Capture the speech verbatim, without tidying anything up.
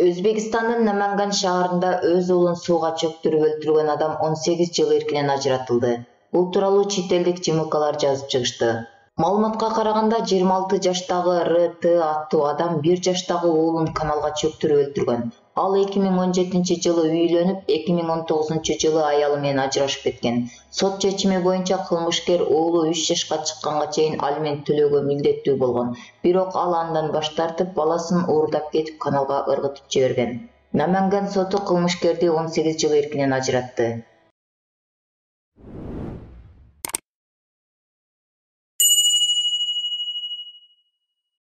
Өзбекстандын Наманган шаарында өз уулун сууга чөктүрүп өлтүргөн адам он сегиз жыл эркинен ажыратылды. Бул тууралуу чет элдик жымылкалар жазып чыгышты. Маалыматка караганда жыйырма алты жаштагы Р Т аттуу адам бир жаштагы уулун каналга чөктүрүп өлтүргөн. Ал эки миң он жетинчи жылы үйлөнүп, эки миң он тогузунчу жылы аялы менен ажырашып кеткен. Сот чечими боюнча кылмышкер уулу үч жашка чыкканга чейин алимент төлөөгө милдеттүү болгон. Бирок ал андан баш тартып, баласын уурдап кетип каналга ыргытып жиберген. Наманган соту кылмышкерди он сегиз жыл эркинен ажыратты.